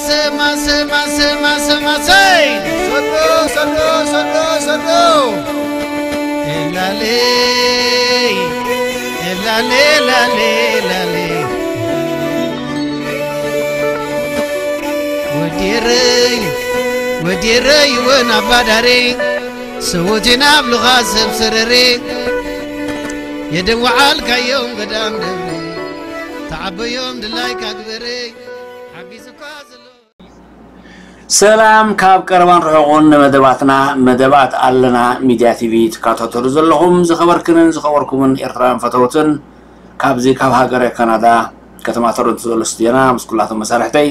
ማሰ ማሰ ማሰ ማሰ ማሰ ሰዶ ሰዶ ሰዶ ሰዶ ኤላሌ ኤላሌ ላሌ ላሌ ወዲረይ ወዲረይ ወን ኣባዳሬ ሰዎቴና ኣብልኻ ሰብ ሰረሬ የደወዓልካዮም ገዳም ደብሬ ተዓበዮም ድላይካ ግበሬ ሓጊዙካ ዘሎ ሰላም ካብ ቀረባን ርሑቕን ንመደባትና መደባት ኣለና ሚድያ ቲቪ ትከታተሉ ዘለኹም ዝኸበርክንን ዝኸበርኩምን ኤርትራውያን ፈተውትን ካብዚ ካብ ሃገረ ካናዳ ከተማ ቶሮንቶ ዘሎ ስቱድዮና ምስ ኩላቶም መሳርሕተይ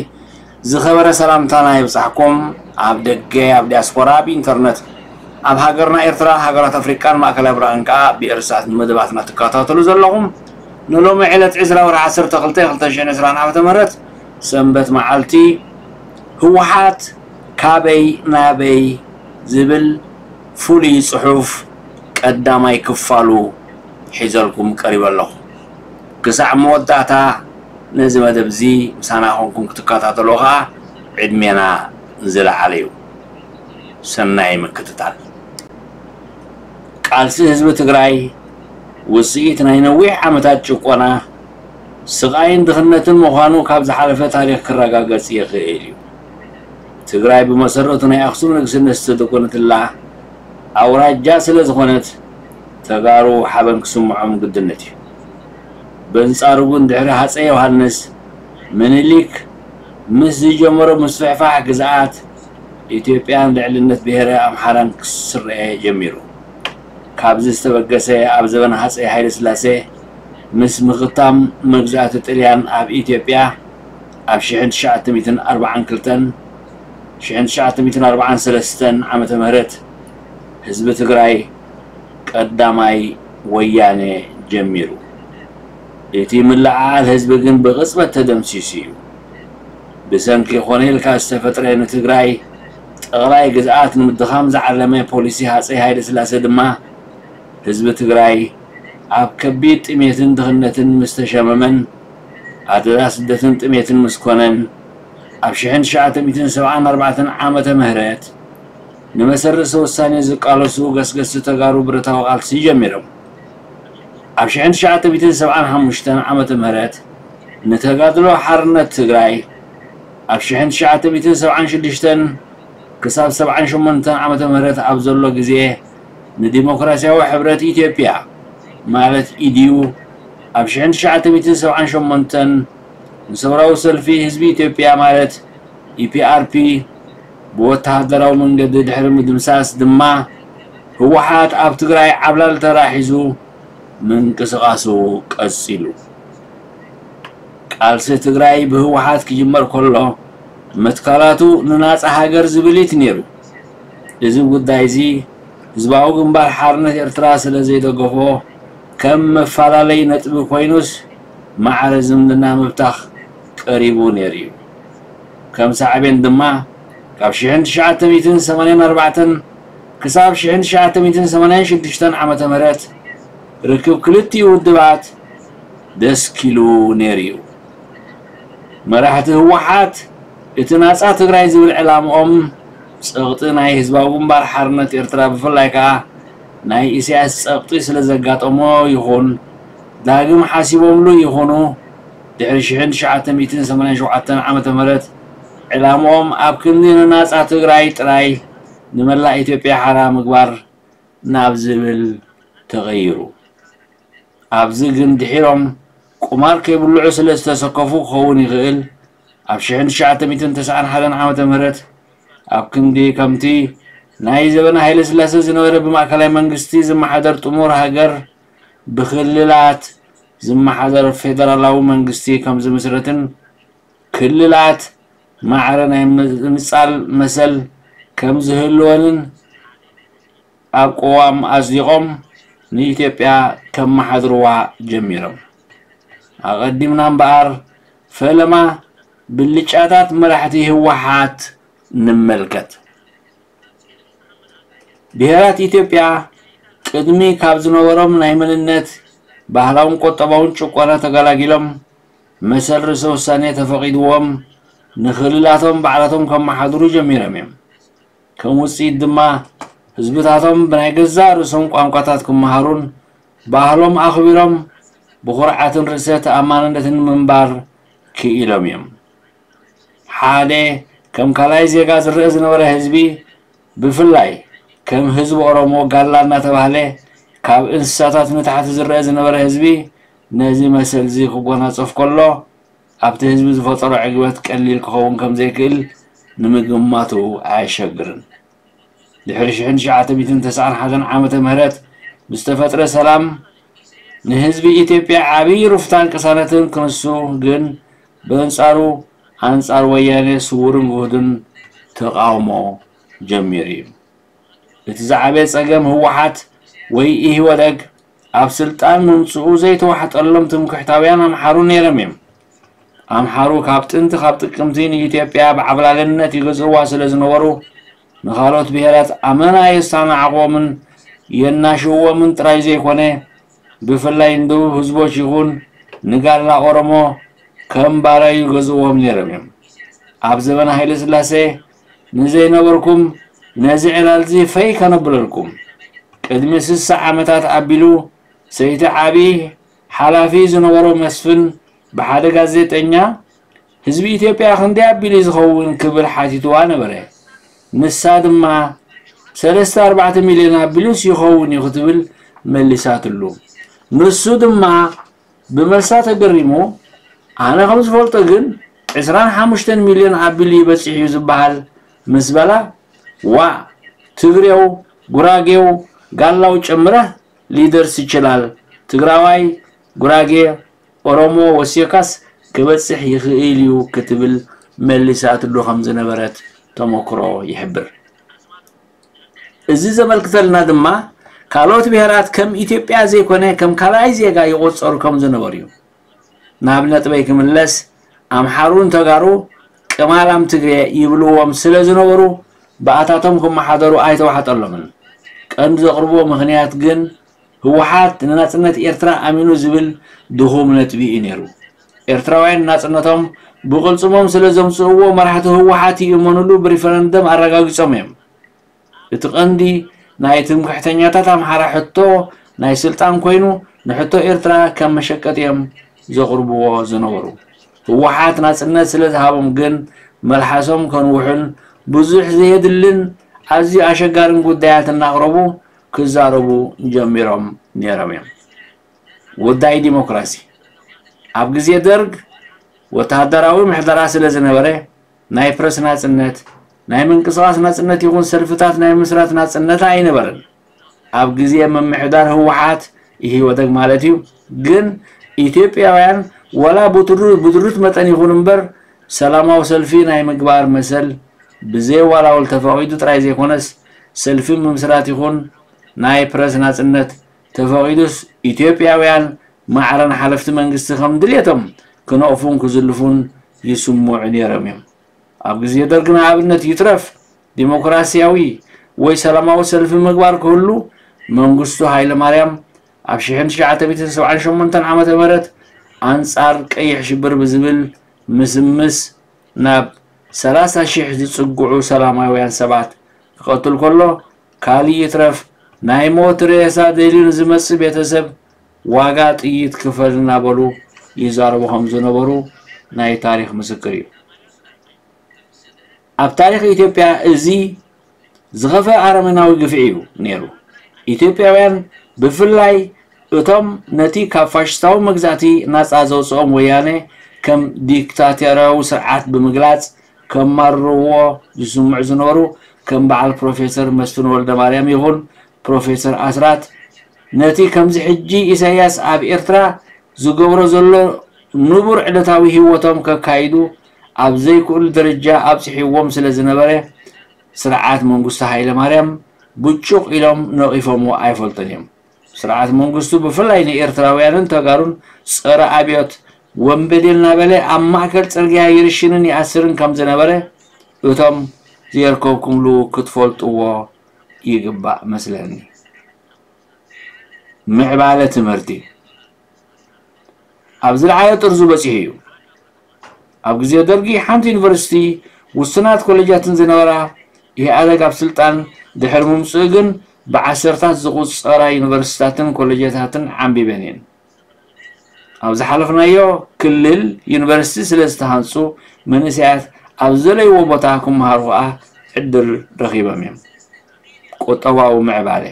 ዝኸበረ ሰላምታና ይብጻሕኩም። ኣብ ደገ ኣብ ዲያስፖራ ኣብ ኢንተርነት ኣብ ሃገርና ኤርትራ ሃገራት ኣፍሪቃን ማእከላይ ብራቕን ከኣ ብኤርሳት ንመደባትና ትከታተሉ ዘለኹም ንሎሚ ዕለት ዕስራ ወርሒ ዓሰርተ ክልተ ክልተ ሽሕን ዕስራን ዓመተ ምህረት ሰንበት መዓልቲ ህወሓት ካበይ ናበይ ዝብል ፍሉይ ጽሑፍ ቀዳማይ ክፋሉ ሒዘልኩም ቀሪበ ኣለኹ። ክሳዕ መወዳእታ ነዚ መደብ እዚ ምሳና ኮንኩም ክትከታተሉ ከኣ ዕድሜና ዝለዓለ እዩ። ሰናይ ምክትታል። ቃልሲ ህዝቢ ትግራይ ውፅኢት ናይ ነዊሕ ዓመታት ጭቆና፣ ስቓይን ድኽነትን ምዃኑ ካብ ዝሓለፈ ታሪኽ ክረጋገጽ ይኽእል እዩ። ትግራይ ብመሰረቱ ናይ ኣኽሱም ንግስነት ዝተደቆነትላ ኣውራጃ ስለ ዝኾነት ተጋሩ ሓበን ክስምዖም ግድነት እዩ። በንጻሩ ግን ድሕሪ ሃፀይ ዮሃንስ ምኒልክ ምስ ዝጀመሮ ምስፍሕፋሕ ግዝኣት ኢትዮጵያን ልዕልነት ብሄረ ኣምሓራን ክስረኤ ጀሚሩ። ካብዚ ዝተበገሰ ኣብ ዘበን ሃፀይ ሃይለ ስላሴ ምስ ምኽታም መግዛእቲ ጥልያን ኣብ ኢትዮጵያ ኣብ ሽሕን ትሽዓተ ሚእትን ኣርባዓን ክልተን ሽሕን ትሽዓተ ሚእትን ኣርባዓን ሰለስተን ዓመተ ምህረት ህዝቢ ትግራይ ቀዳማይ ወያነ ጀሚሩ። እቲ ምልዕዓል ህዝቢ ግን ብቕጽበት ተደምሲሱ እዩ። ብሰንኪ ኮነ ኢልካ ዝተፈጥረ ንትግራይ ጠቕላይ ግዝኣት ንምድኻም ዝዓለመ ፖሊሲ ሃፀይ ሃይለ ስላሴ ድማ ህዝቢ ትግራይ ኣብ ከቢድ ጥሜትን ድኽነትን ምስ ተሸመመን ኣደዳ ስደትን ጥሜትን ምስ ኮነን ኣብ ሽሕን ትሽዓተ ሚእትን ሰብዓን ኣርባዕተን ዓመተ ምህረት ንመሰረተ ውሳኔ ዝቃለሱ ገስገስቲ ተጋሩ ብረታዊ ቃልሲ ጀሚሮም። ኣብ ሽሕን ትሽዓተ ሚእትን ሰብዓን ሓሙሽተን ዓመተ ምህረት ንተጋድሎ ሓርነት ትግራይ ኣብ ሽሕን ትሽዓተ ሚእትን ሰብዓን ሽዱሽተን ክሳብ ሰብዓን ሸሞንተን ዓመተ ምህረት ኣብ ዘሎ ግዜ ንዲሞክራሲያዊ ሕብረት ኢትዮጵያ ማለት ኢዲዩ ኣብ ሽሕን ትሽዓተ ሚእትን ሰብዓን ሸሞንተን ንሰውራዊ ሰልፊ ህዝቢ ኢትዮጵያ ማለት ኢፒኣርፒ ብወተሃደራዊ መንገዲ ድሕሪ ምድምሳስ ድማ ህወሓት ኣብ ትግራይ ዓብላሊ ተራ ሒዙ ምንቅስቓሱ ቀጺሉ። ቃልሲ ትግራይ ብህወሓት ክጅመር ከሎ መትካላቱ ንናጻ ሃገር ዝብል እቲ ነይሩ። እዚ ጉዳይ እዚ ህዝባዊ ግንባር ሓርነት ኤርትራ ስለ ዘይደገፎ ከም መፈላለይ ነጥቢ ኮይኑስ ማዕረ ዝምድና ምብታኽ ቀሪቡ ነይሩ እዩ። ከም ሳዕቤን ድማ ካብ ሽሕን ትሽዓተ ሚእትን ሰማንያን ኣርባዕተን ክሳብ ሽሕን ትሽዓተ ሚእትን ሰማንያን ሽዱሽተን ዓመተ ምህረት ርክብ ክልቲኡ ውድባት ደስኪሉ ነይሩ እዩ። መራሕቲ ህወሓት እቲ ናጻ ትግራይ ዝብል ዕላምኦም ጸቕጢ ናይ ህዝባዊ ግንባር ሓርነት ኤርትራ ብፍላይ ከኣ ናይ ኢሳያስ ጸቕጢ ስለ ዘጋጠሞ ይኹን ዳግም ሓሲቦምሉ ይኹኑ ድሕሪ ሽሕን ትሽዓተ ሚእትን ሰማንያን ሸውዓተን ዓመተ ምህረት ዕላምኦም ኣብ ክንዲ ንናጻ ትግራይ ጥራይ ንመላእ ኢትዮጵያ ሓራ ምግባር ናብ ዝብል ተቐይሩ። ኣብዚ ግን ድሒሮም ቁማር ከይብልዑ ስለ ዝተሰከፉ ክኸውን ይኽእል ኣብ ሽሕን ትሽዓተ ሚእትን ተስዓን ሓደን ዓመተ ምህረት ኣብ ክንዲ ከምቲ ናይ ዘበነ ሃይለ ስላሴ ዝነበረ ብማእከላይ መንግስቲ ዝመሓደር ጥሙር ሃገር ብክልላት ዝመሓደር ፌደራላዊ መንግስቲ ከም ዝምስረትን ክልላት ማዕረ ናይ ምንጻል መሰል ከም ዝህልወንን ኣብ ቅዋም ኣጽዲቖም ንኢትዮጵያ ከመሓድርዋ ጀሚሮም። ኣቐዲምና እምበኣር ፈለማ ብልጫታት መራሕቲ ህወሓት ንመልከት። ብሄራት ኢትዮጵያ ቅድሚ ካብ ዝነበሮም ናይ መንነት፣ ባህላውን ቁጠባውን ጭቆና ተገላጊሎም መሰል ርእሰ ውሳኔ ተፈቒድዎም ንክልላቶም ባዕላቶም ከመሓድሩ ጀሚሮም እዮም። ከም ውፅኢት ድማ ህዝብታቶም ብናይ ገዛእ ርእሶም ቋንቋታት ክመሃሩን ባህሎም ኣኽቢሮም ብኹርዓትን ርእሰ ተኣማንነትን ምንባር ክኢሎም እዮም። ሓደ ከም ካልኣይ ዜጋ ዝረአ ዝነበረ ህዝቢ፣ ብፍላይ ከም ህዝቢ ኦሮሞ ጋላ እናተባህለ ካብ እንስሳታት ንታሕቲ ዝረአ ዝነበረ ህዝቢ፣ ነዚ መሰል እዚ ክጎናጸፍ ከሎ ኣብቲ ህዝቢ ዝፈጠሮ ዕግበት ቀሊል ክኸውን ከም ዘይክእል ንምግማቱ ኣየሸግርን። ድሕሪ ሽሕን ትሽዓተ ሚእትን ተስዓን ሓደን ዓመተ ምህረት ብዝተፈጥረ ሰላም ንህዝቢ ኢትዮጵያ ዓብዪ ሩፍታን ቅሳነትን ክንሱ ግን ብእንጻሩ ኣንጻር ወያኔ ስውርን ግሁድን ተቓውሞ ጀሚሩ እዩ። እቲ ዝዓበየ ጸገም ህወሓት ወይ ኢህወደግ ኣብ ስልጣን ምምጽኡ ዘይተዋሕጠሎም ትምክሕታውያን ኣምሓሩ ነይሮም እዮም። ኣምሓሩ ካብ ጥንቲ ካብ ጥቅምቲ ንኢትዮጵያ ብዓብላልነት ይገዝእዋ ስለ ዝነበሩ ንኻልኦት ብሄራት ኣመና የስተናዕቕዎምን የናሽውዎምን ጥራይ ዘይኮነ ብፍላይ ንደቡብ ህዝቦች ይኹን ንጋላ ኦሮሞ ከም ባርያ ይገዝእዎም ነይሮም እዮም። ኣብ ዘበነ ሃይለ ስላሴ ንዘይነበርኩም ነዚ ዕላል እዚ ፈይ ከነብለልኩም። ቅድሚ ስሳ ዓመታት ኣቢሉ ሰይቲ ዓቢ ሓላፊ ዝነበሮ መስፍን ብሓደ ጋዜጠኛ ህዝቢ ኢትዮጵያ ክንደይ ኣቢሉ ዝኸውን ክብል ሓቲትዋ ነበረ። ንሳ ድማ ሰለስተ ኣርባዕተ ሚልዮን ኣቢሉስ ይኸውን እዩ ክትብል መሊሳትሉ። ንሱ ድማ ብመልሳ ተገሪሙ ኣነ ከም ዝፈልጦ ግን ዕስራን ሓሙሽተን ሚልዮን ኣቢሉ ይበጽሕ እዩ ዝበሃል ምስ በላ ዋእ ትግሬው ጉራጌው ጋላው ጨምረህ ሊደርስ ይችላል ትግራዋይ ጉራጌ ኦሮሞ ወሲኻስ ክበጽሕ ይኽእል እዩ ክትብል መሊሳትሉ ከም ዝነበረት ተመክሮ ይሕብር። እዚ ዘመልክተልና ድማ ካልኦት ብሄራት ከም ኢትዮጵያ ዘይኮነ ከም ካልኣይ ዜጋ ይቆጸሩ ከም ዝነበሩ እዩ። ናብ ነጥበይ ክምለስ ኣምሓሩን ተጋሩ ቅማላም ትግሬ ይብልዎም ስለ ዝነበሩ ብኣታቶም ክመሓደሩ ኣይተዋሕጠሎምን። ቀንዲ ዘቕርብዎ ምኽንያት ግን ህወሓት ንናጽነት ኤርትራ ኣሚኑ ዝብል ድኹም ነጥቢ እዩ ነይሩ። ኤርትራውያን ናጽነቶም ብቕልጽሞም ስለ ዘምጽእዎ መራሕቲ ህወሓት ይእመኑሉ ብሪፈረንደም ኣረጋጊጾም እዮም። እቲ ቀንዲ ናይ ትምክሕተኛታት ኣምሓራ ሕቶ ናይ ስልጣን ኮይኑ ንሕቶ ኤርትራ ከም መሸቀጢ እዮም ዘቕርብዎ ዝነበሩ። ህወሓት ናጽነት ስለ ዝሃቦም ግን መልሓሶም ከንውሑን ብዙሕ ዘየድልን ኣዝዩ ኣሸጋርን ጉዳያት እናቕረቡ ክዛረቡ ጀሚሮም ነይሮም እዮም። ጉዳይ ዲሞክራሲ ኣብ ግዜ ደርግ ወተሃደራዊ ምሕደራ ስለ ዝነበረ ናይ ፕረስ ናጽነት፣ ናይ ምንቅስቓስ ናጽነት ይኹን ሰልፍታት ናይ ምስራት ናጽነት ኣይነበረን። ኣብ ግዜ ምምሕዳር ህወሓት ኢህወደግ ማለት እዩ። ግን ኢትዮጵያውያን ዋላ ብድሩት መጠን ይኹን እምበር ሰላማዊ ሰልፊ ናይ ምግባር መሰል ብዘየዋላውል ተፈቒዱ ጥራይ ዘይኮነስ ሰልፊ ምምስራት ይኹን ናይ ፕረስ ናጽነት ተፈቒዱስ ኢትዮጵያውያን ማዕረን ሓለፍቲ መንግስቲ ከም ድልየቶም ክነቕፉን ክዝልፉን ይስምዑ ነይሮም እዮም። ኣብ ግዜ ደርግ ንኣብነት ይትረፍ ዲሞክራሲያዊ ወይ ሰላማዊ ሰልፊ ምግባር ክህሉ መንግስቱ ሃይለማርያም ኣብ ሽሕን ትሽዓተ ሚእትን ሰብዓን ሸሞንተን ዓመተ ምህረት ኣንጻር ቀይሕ ሽብር ብዝብል ምስምስ ናብ ሰላሳ ሺሕ ዝጽግዑ ሰላማውያን ሰባት ክቐትል ከሎ ካልእ ይትረፍ ናይ ሞት ሬሳ ደልዩ ንዝመጽእ ቤተሰብ ዋጋ ጥይት ክፈል እናበሉ ይዛረቡ ከም ዝነበሩ ናይ ታሪኽ ምስክር እዩ። ኣብ ታሪኽ ኢትዮጵያ እዚ ዝኸፍአ ኣረመናዊ ግፍዒ እዩ ነይሩ። ኢትዮጵያውያን ብፍላይ እቶም ነቲ ካብ ፋሽስታዊ መግዛእቲ ናጻ ዘውጽኦም ወያነ ከም ዲክታቶርያዊ ስርዓት ብምግላጽ ከማርርዎ ዝስምዑ ዝነበሩ ከም በዓል ፕሮፌሰር መስፍን ወልደማርያም ይኹን ፕሮፌሰር ኣስራት ነቲ ከምዚ ሕጂ ኢሳያስ ኣብ ኤርትራ ዝገብሮ ዘሎ ንቡር ዕለታዊ ህይወቶም ከካይዱ ኣብ ዘይክእሉ ደረጃ ኣብጽሕዎም ስለ ዝነበረ ስርዓት መንግስቱ ሃይለማርያም ብጩቕ ኢሎም ነቒፎምዎ ኣይፈልጡን እዮም። ስርዓት መንግስቱ ብፍላይ ንኤርትራውያንን ተጋሩን ጸረ ኣብዮት ወንበዴ እናበለ ኣብ ማእከል ጽርግያ ይርሽንን ይኣስርን ከም ዝነበረ እቶም ዘየርከብኩምሉ ክትፈልጥዎ ይግባእ መስለኒ። ምዕባለ ትምህርቲ ኣብ ዝለዓለ ጥርዙ በጺሑ እዩ። ኣብ ግዜ ደርጊ ሓንቲ ዩኒቨርሲቲ ውሱናት ኮሌጃትን ዝነበራ፣ ኢህኣደግ ኣብ ስልጣን ድሕሪ ምምፅኡ ግን ብዓሰርታት ዝቑጸራ ዩኒቨርሲታትን ኮሌጃታትን ዓንቢበን እየን። ኣብ ዝሓለፍናዮ ክልል ዩኒቨርሲቲ ስለ ዝተሃንጹ፣ መንእሰያት ኣብ ዘለይዎ ቦታ ክመሃሩ ከኣ ዕድል ረኺቦም እዮም። ቁጠባዊ ምዕባለ።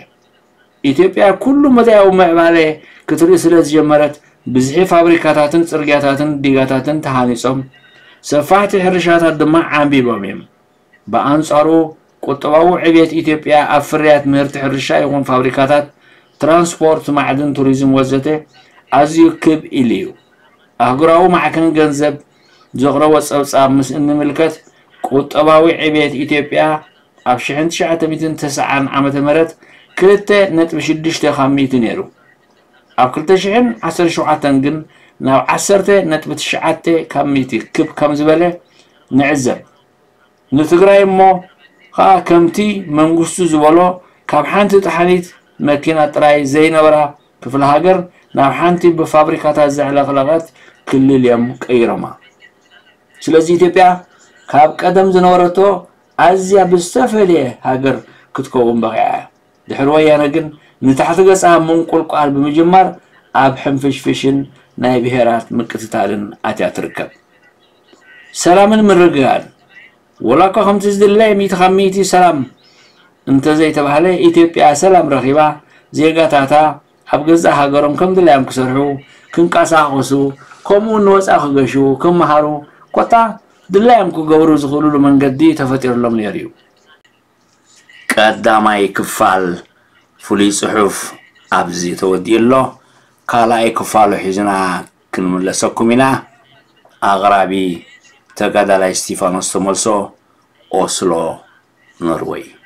ኢትዮጵያ ኩሉ መዳያዊ ምዕባለ ክትርኢ ስለ ዝጀመረት፣ ብዝሒ ፋብሪካታትን ጽርግያታትን ዲጋታትን ተሃኒጾም፣ ሰፋሕቲ ሕርሻታት ድማ ዓንቢቦም እዮም። ብኣንጻሩ፣ ቁጠባዊ ዕብየት ኢትዮጵያ ኣብ ፍርያት ምህርቲ ሕርሻ ይኹን ፋብሪካታት፣ ትራንስፖርት፣ ማዕድን፣ ቱሪዝም ወዘተ ኣዝዩ ክብ ኢሉ እዩ። ኣህጉራዊ ማዕከን ገንዘብ ዘቕረቦ ጸብጻብ ምስ እንምልከት፣ ቁጠባዊ ዕብየት ኢትዮጵያ ኣብ ሽሕን ትሽዓተ ሚእትን ተስዓን ዓመተ ምህረት ክልተ ነጥቢ ሽዱሽተ ካብ ሚእቲ ነይሩ። ኣብ ክልተ ሽሕን ዓሰርተ ሸውዓተን ግን ናብ ዓሰርተ ነጥቢ ትሽዓተ ካብ ሚእቲ ክብ ከም ዝበለ ንዕዘብ። ንትግራይ እሞ ኸኣ ከምቲ መንግስቱ ዝበሎ ካብ ሓንቲ ጠሓኒት መኪና ጥራይ ዘይነበራ ክፍለ ሃገር ናብ ሓንቲ ብፋብሪካታት ዘዕለቕለቐት ክልል እዮም ቀይሮማ። ስለዚ ኢትዮጵያ ካብ ቀደም ዝነበረቶ ኣዝያ ብዝተፈለየ ሃገር ክትከውን በቒዓ እያ። ድሕሪ ወያነ ግን ንታሕቲ ገጻ ምንቁልቋል ብምጅማር ኣብ ሕንፍሽፍሽን ናይ ብሄራት ምቅትታልን ኣትያ ትርከብ። ሰላምን ምርግጋእን። ወላ እኳ ከምቲ ዝድለ ሚእቲ ካብ ሚእቲ ሰላም እንተዘይተባህለ፣ ኢትዮጵያ ሰላም ረኺባ፣ ዜጋታታ ኣብ ገዛእ ሃገሮም ከም ድላዮም ክሰርሑ፣ ክንቀሳቐሱ፣ ከምኡ እውን ንወጻኢ ክገሹ፣ ክመሃሩ፣ ኮታ ድላዮም ክገብሩ ዝኽእሉሉ መንገዲ ተፈጢሩሎም ነይሩ እዩ። ቀዳማይ ክፋል ፍሉይ ጽሑፍ ኣብዚ ተወዲኡ ኣሎ። ካልኣይ ክፋሉ ሒዝና ክንምለሰኩም ኢና። ኣቕራቢ ተጋዳላይ እስቲፋኖስ ተመልሶ፣ ኦስሎ፣ ኖርወይ።